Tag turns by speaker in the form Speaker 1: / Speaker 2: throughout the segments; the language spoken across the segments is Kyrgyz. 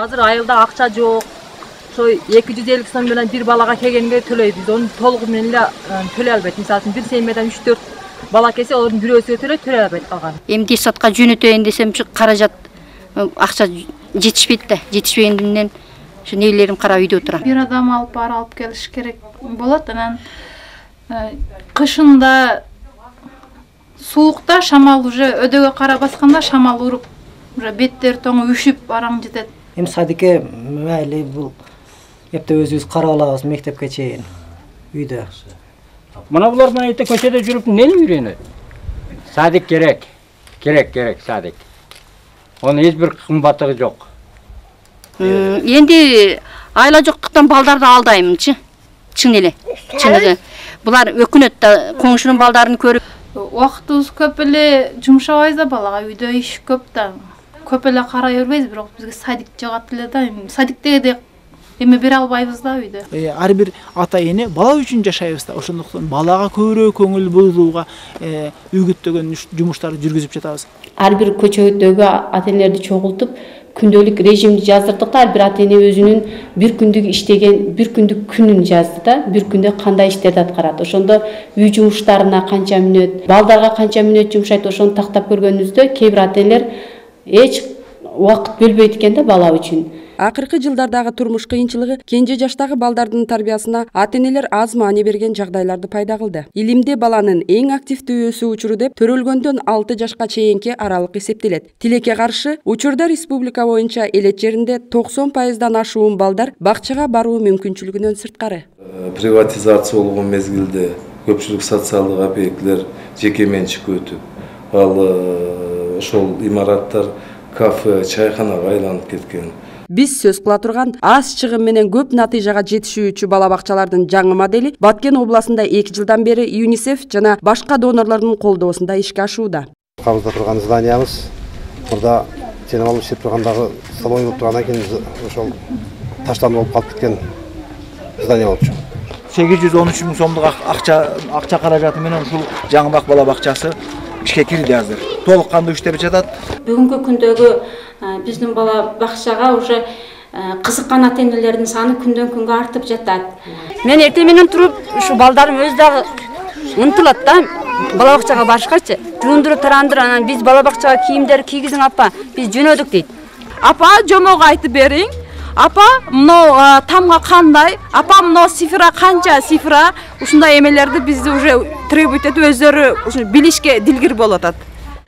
Speaker 1: Азыр айылда акча жок. Ошо 250 сом менен бир балага келгенге төлөйбүз. Onu толугу менен эле төлөй албайт. Мисалы үчүн бир семьядан 3-4 бала келсе, олордун бирөөсүгө төлөй албайт калган.
Speaker 2: Эмди сотко жөнөтөйүн десемчи каражат акча жетишпейт да. Жетишпегенден ошо небелерим карап үйдө отурам.
Speaker 3: Бир адам алып келиш керек болот. Анан кышында суукта шамал уже өдөгө кара басканда шамал уруп, уже беттер тоңу үшүп араң жетет.
Speaker 4: Эми садикке майли бул эпте өзүбүз карап алабыз мектепке чейин үйдө.
Speaker 5: Мына булар менен эрте көчөдө жүрүп эмнени үйрөнөт? Садик керек. Керек садик. Онун эч бир кымбаттыгы жок.
Speaker 2: Энди айла жоктуктан балдарды алдаймынчы. Чын эле. Чыныгы. Булар өкүнөт да коңшунун балдарын көрүп.
Speaker 3: Убактыбыз көп эле жумшабайбыз да, балага үйдө иш көп да. Көп эле карай бербейбиз, бирок бизге садик жагат эле да. Садиктеги эме бере албайбыз да үйдө.
Speaker 6: Ар бир ата эне бала үчүн жашайбыз да. Ошондуктан балага көбүрөөк көңүл бурууга үгүттөгөн жумуштарды жүргүзүп жатабыз.
Speaker 7: Ар бир көчөдөгү ата энелерди чогултуп, күндөлүк режимди жаздырдык да. Ар бир ата эне өзүнүн бир күндүк иштеген, бир күндүк күнүн жазды да. Бир күндө кандай иштерди аткарат. Ошондо үй жумуштарына канча мүнөт, балдарга канча мүнөт жумшайт, ошону тактап көргөнүбүздө кээ бир ата энелер эч убакыт бөлбөйт экен да бала үчүн.
Speaker 8: Акыркы жылдардагы турмуш кыйынчылыгы кенже жаштагы балдардын тарбиясына ата-энелер аз маани берген жагдайларды пайда кылды. Илимде баланын эң активдүү өсүү учуру деп төрөлгөндөн 6 жашка чейинки аралык эсептелет. Тилекке каршы, учурда республика боюнча элет жеринде 90%дан ашуун балдар бакчага баруу мүмкүнчүлүгүнөн сырткары.
Speaker 9: Приватизация болгон мезгилде көпчүлүк социалдык объектилер жеке менчикке өтүп, ал ошол имараттар кафе, чайханага айланып кеткен.
Speaker 8: Биз сөз кыла турган аз чыгым менен көп натыйжага жетишүүчү бала бакчалардын жаңы модели Баткен областында 2 жылдан бери ЮНИСЕФ жана башка донорлордун колдоосунда ишке ашууда.
Speaker 10: Кабызда турган зданиябыз мурда сенем алып иштеп тургандагы салон болуп тургандан кийин ошол таштанып болуп калып кеткен здание болчу.
Speaker 6: 813 000 сомдук акча каражаты менен ушул жаңы бала бакчасы ишке кирди азыр. Толук кандуу иштеп жатат.
Speaker 11: Бүгүнкү күндөгү биздин бала бакчага уже кызыккан ата энелердин саны күндөн күнгө артып жатат.
Speaker 2: Мен эртең менен туруп, ушу балдарым өз дагы ынтылат да бала бакчага барышкачы. Жуундуруп тарандыр, анан биз бала бакчага кийимдер кийгизиң апа, биз жөнөдүк дейт.
Speaker 1: Апа, жомого айтып бериң. Апа, мына тамга кандай? Апа, мына цифра канча цифра? Ушундай эмелерди бизди уже требует этип өздөрү ушу билишке дилгир болуп атат.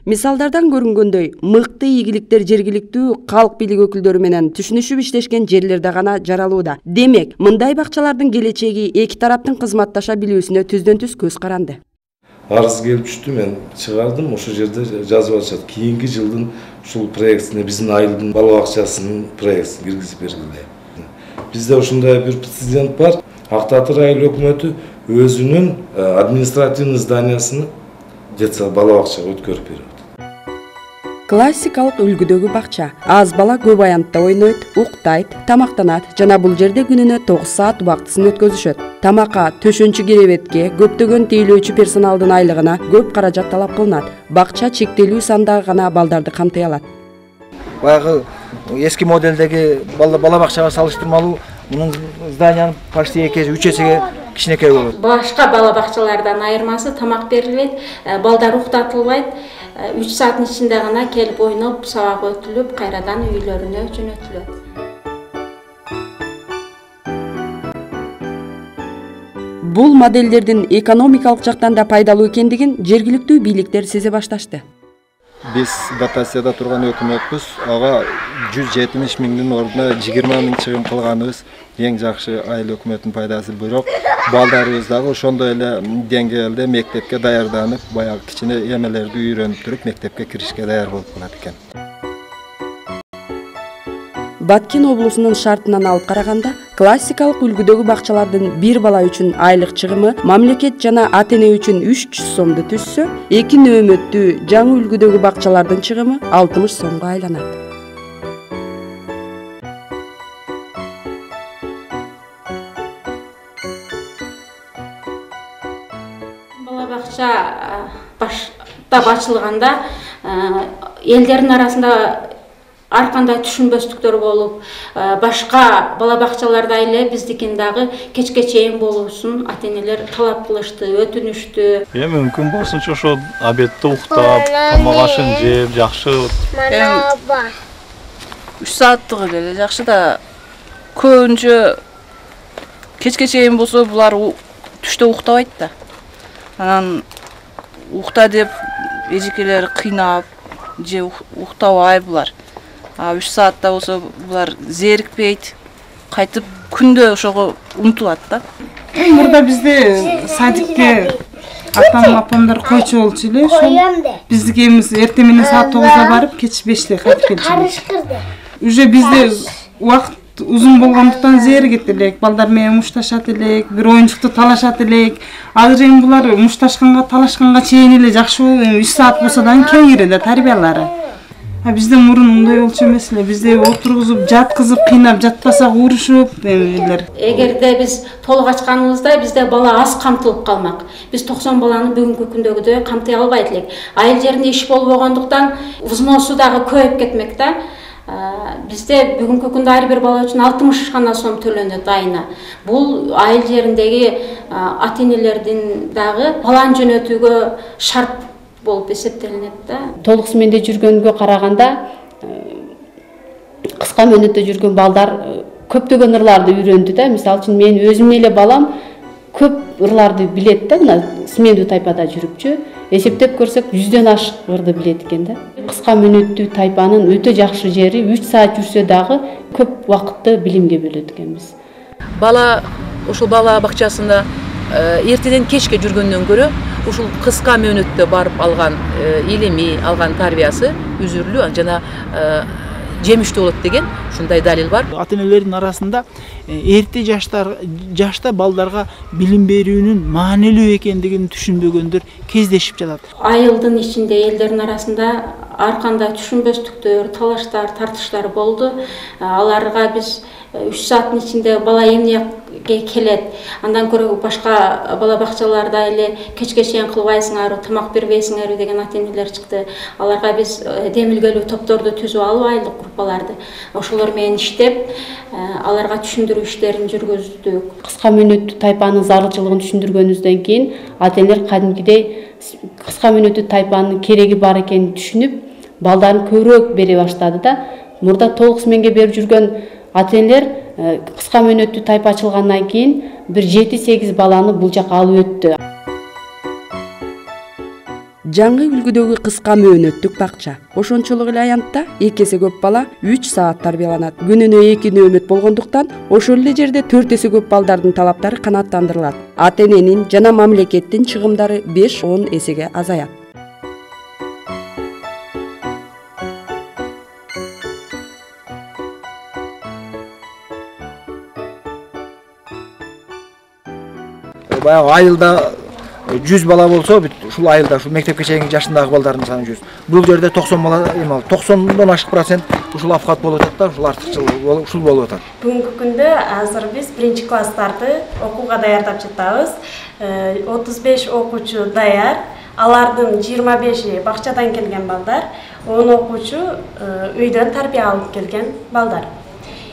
Speaker 8: Мисалдардан көрүнгөндөй, мыкты ийгиликтер жергиликтүү калк бийлик өкүлдөрү менен түшүнүшүп иштешкен жерлерде гана жаралууда. Демек, мындай бакчалардын келечеги эки тараптын кызматташа билүүсүнө түздөн-түз көз каранды.
Speaker 9: Арыз келип түштү, мен чыгардым, ошол жерде жазып атышат. Кийинки жылдын ушул проектине биздин айылдын бала бакчасынын проектин киргизип бергиле. Бизде ушундай бир прецедент бар. Ак Таатыр айыл өкмөтү өзүнүн административный зданиясын детсад бала бакчага өткөрүп берет.
Speaker 8: Классикалык үлгүдөгү бакча. Аз бала көп аянтта ойнойт, уктайт, тамактанат жана бул жерде күнүнө 9 саат убактысын өткөзүшөт. Тамакка, төшөнчү керебетке, көптөгөн тейлөөчү персоналдын айлыгына көп каражат талап кылынат. Бакча чектелүү сандагы гана балдарды камтый алат.
Speaker 6: Баягы эски моделдеги бала бакчага салыштырмалуу мунун зданиянын почти 2-3 эсеге кичинекей болот.
Speaker 11: Башка бала бакчалардан айырмасы тамак берилбейт, балдар уктатылбайт. 3 сааттын ичинде гана келип ойноп, сабак өтүлүп, кайрадан үйлөрүнө жөнөтүлөт.
Speaker 8: Бул модельдердин экономикалык жактан да пайдалуу экендигин жергиликтүү бийликтер сезе башташты.
Speaker 10: Биз дотацияда турган өкмөтпүз, ага 170 миңдин ордуна 20 миң чыгым кылганыбыз эң жакшы айыл өкмөтүнүн пайдасы. Бирок балдарыбыз дагы ошондой эле деңгээлде мектепке даярданып, баягы кичине эмелерди үйрөнүп туруп мектепке киришке даяр болуп калат экен.
Speaker 8: Баткен облусунун шартынан алып караганда, классикалык үлгүдөгү бакчалардын бир бала үчүн айлык чыгымы мамлекет жана ата эне үчүн 300 сомду түзсө, 2 нөөмөттүү жаңы үлгүдөгү бакчалардын чыгымы 60 сомго айланат.
Speaker 11: Бала бакча башта бачылганда элдердин арасында ар кандай түшүнбөстүктөр болуп, башка бала бакчаларда эле биздикин дагы кечке чейин болуусун ата-энелер талап кылышты, өтүнүштү.
Speaker 12: Мүмкүн болсунча ошо обедти уктап, тамак ашын жеп, жакшы.
Speaker 13: 3 сааттык эле жакшы да, көбүнчө кечке чейин болсо булар түштө уктабайт да. Анан укта деп эжекелер кыйнап же уктабай булар. 3 саатта болсо булар зерикпейт, кайтып күндө ошого умтулат да.
Speaker 14: Мурда бизде садикке апамдар койчу болчу эле, ошол биздики эмес эртең менен саат 9-да барып, кеч 5-те кайтып келчүбүз. Уже бизде убакыт узун болгондуктан зеригет элек, балдар менен мушташат элек, бир оюнчукту талашат элек. Азыр эми булар мушташканга, талашканга чейин эле жакшы болуп, 3 саат болсо да кеңири да тарбиялары. Бизде мурун мындай болчу эмес эле. Бизде отургузуп, жаткызып, кыйнап, жатпасак урушуп эмелер.
Speaker 11: Эгерде биз толук ачканыбызда бизде бала аз камтылып калмак. Биз 90 баланы бүгүнкү күндөгүдөй камтый албайт элек. Айыл жеринде иш болбогондуктан взносу дагы көбөйүп кетмек да. Бизде бүгүнкү күндө ар бир бала үчүн 60 гана сом төлөнөт айына. Бул айыл жериндеги ата-энелердин дагы баланы жөнөтүүгө шарт болуп эсептелинет да.
Speaker 7: Толук сменде жүргөнгө караганда кыска мөөнөттө жүргөн балдар көптөгөн ырларды үйрөндү да. Мисалы үчүн мен өзүмдүн эле балам көп ырларды билет да, мына смендүү тайпада жүрүпчү. Эсептеп көрсөк 100дөн ашык ырды билет экен да. Кыска мөөнөттүү тайпанын өтө жакшы жери 3 саат жүрсө дагы көп убакытты билимге бөлөт экенбиз.
Speaker 15: Бала ошол бала бакчасында эртеден кечке жүргөндөн көрө ушул кыска мөөнөттө барып алган илими, алган тарбиясы үзүрлүү жана жемиштүү болот деген ушундай далил бар.
Speaker 16: Ата-энелердин арасында эрте жашта балдарга билим берүүнүн маанилүү экендигин түшүнбөгөндөр кездешип жатат.
Speaker 11: Айылдын ичинде элдердин арасында ар кандай түшүнбөстүктөр, талаштар, тартыштар болду. Аларга биз 3 сааттын ичинде бала эмнеге келет, андан көрө башка бала бакчаларда эле кечке чейин кылбайсыңарбы, тамак бербейсиңерби деген ата-энелер чыкты. Аларга биз демилгелүү топторду түзүп алып, айлык группаларды ошолор менен иштеп, аларга түшүндүрүү иштерин жүргүздүк.
Speaker 7: Кыска мөөнөттүү тайпанын зарылчылыгын түшүндүргөнүбүздөн кийин ата-энелер кадимкидей кыска мөөнөттүү тайпанын кереги бар экенин түшүнүп, балдарын көбүрөөк бере баштады да. Мурда толук сменге берип жүргөн ата-энелер кыска мөөнөттүү тайпа ачылгандан кийин бир 7-8 баланы бул жака алып өттү.
Speaker 8: Жаңы үлгүдөгү кыска мөөнөттүк бакча. Ошончолук эле аянтта 2 эсе көп бала 3 саат тарбияланат. Күнүнө 2 нөөмөт болгондуктан ошол эле жерде 4 эсе көп балдардын талаптары канааттандырылат. Ата-эненин жана мамлекеттин чыгымдары 5-10 эсеге азаят.
Speaker 6: Баягы айылда 100 бала болсо, ушул айылда ушул мектепке чейинки жашындагы балдардын саны 100. Бул жерде 90 бала, 90дон ашык процент ушул апкат болуп атат да, ушул артыкчылык ушул болуп атат.
Speaker 17: Бүгүнкү күндө азыр биз 1-класстарды окууга даярдап жатабыз. 35 окуучу даяр, алардын 25-и бакчадан келген балдар, 10 окуучу үйдөн тарбия алып келген балдар.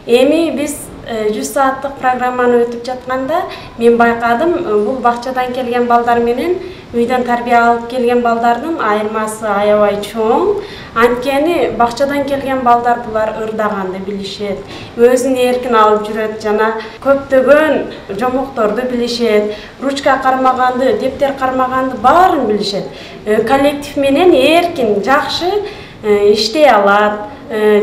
Speaker 17: Эми биз 100 сааттык программаны өтүп жатканда мен байкадым, бул бакчадан келген балдар менен үйдөн тарбия алып келген балдардын айырмасы аябай чоң. Анткени бакчадан келген балдар булар ырдаганды билишет, өзүн эркин алып жүрөт жана көптөгөн жомокторду билишет, ручка кармаганды, дептер кармаганды баарын билишет. Коллектив менен эркин, жакшы иштей алат.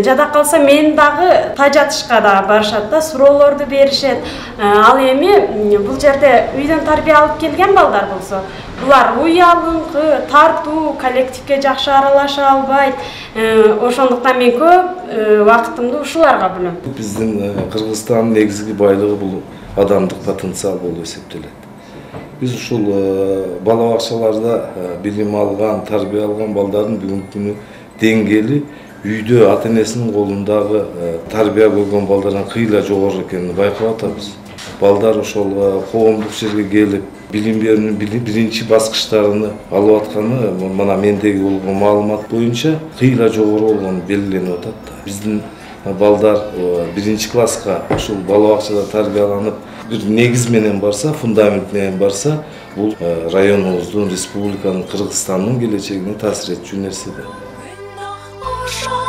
Speaker 17: Жада калса мен дагы тажатышка да барышат да, суроолорду беришет. Ал эми бул жерде үйдөн тарбия алып келген балдар болсо, булар уялыңкы, тартуу, коллективге жакшы аралаша албайт. Ошондуктан мен көп убактымды ушуларга бөлөм.
Speaker 9: Биздин Кыргызстандын негизги байлыгы бул адамдык потенциал болуп эсептелет. Биз ушул бала бакчаларда билим алган, тарбия алган балдардын бүгүнкү күнү деңгээли үйдө ата-энесинин колундагы тарбия көргөн балдардан кыйла жогору экенин байкап атабыз. Балдар ошол коомдук жерге келип, билим берүүнүн биринчи баскычтарын алып атканы мына мендеги болгон маалымат боюнча кыйла жогору болгону белгиленип атат да. Биздин балдар биринчи класска ушул бала бакчада тарбияланып бир негиз менен барса, фундамент менен барса, бул районубуздун, республиканын, Кыргызстандын келечегине таасир этчү нерсе да.